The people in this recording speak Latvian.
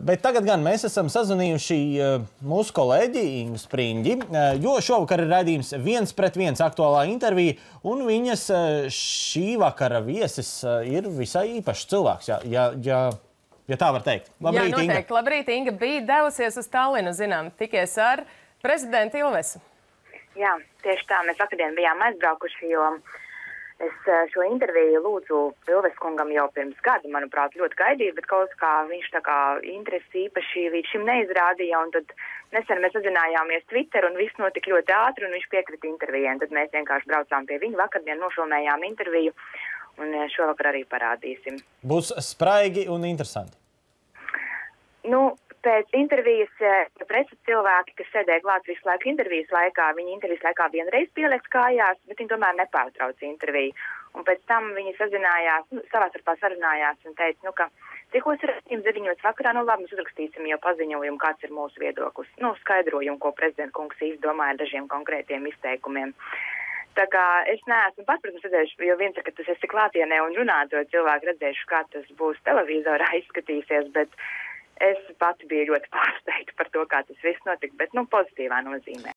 Bet tagad gan mēs esam sazvanījuši mūsu kolēģi Ingu Spriņģi, jo šovakar ir raidījums 1-pret-1 aktuālā intervija, un viņas šī vakara viesis ir visai īpašs cilvēks, ja tā var teikt. Labrīt, Jā, noteikti. Inga. Labrīt, Inga bija devusies uz Tallinu, zinām, tikies ar prezidentu Ilvesu. Jā, tieši tā. Mēs vakardien bijām aizbraukuši, jo es šo interviju lūdzu Ilves kungam jau pirms gada, manuprāt, ļoti gaidīju, bet kaut kā viņš tā kā interesi īpaši līdz šim neizrādīja, un tad nesen mēs sazinājāmies Twitter, un viss notika ļoti ātri, un viņš piekrita intervijai, un tad mēs vienkārši braucām pie viņa, vakardien nofilmējām interviju, un šovakar arī parādīsim. Būs spraigi un interesanti. Nu, pēc intervijas preses cilvēki, kas sēdēja klāt visu laiku intervijas laikā, viņi intervijas laikā vienreiz pieliks kājās, bet viņi tomēr nepārtrauc interviju. Un pēc tam viņi sazinājās, savā starpā sarunājās un teica, ka tikos raidījums 9 vakarā, labi, mēs uzrakstīsim jau paziņojumu, kāds ir mūsu viedoklis. Skaidrojumu, ko prezidenta kungs izdomāja ar dažiem konkrētiem izteikumiem. Tā kā es neesmu pats, protams, redzējuši, jo viens ir, ka tas esi klātienē un runāto cilvēku redzējuši, kā tas būs televizorā izskatīsies, bet es pati biju ļoti pārsteigta par to, kā tas viss notika, bet pozitīvā nozīmē.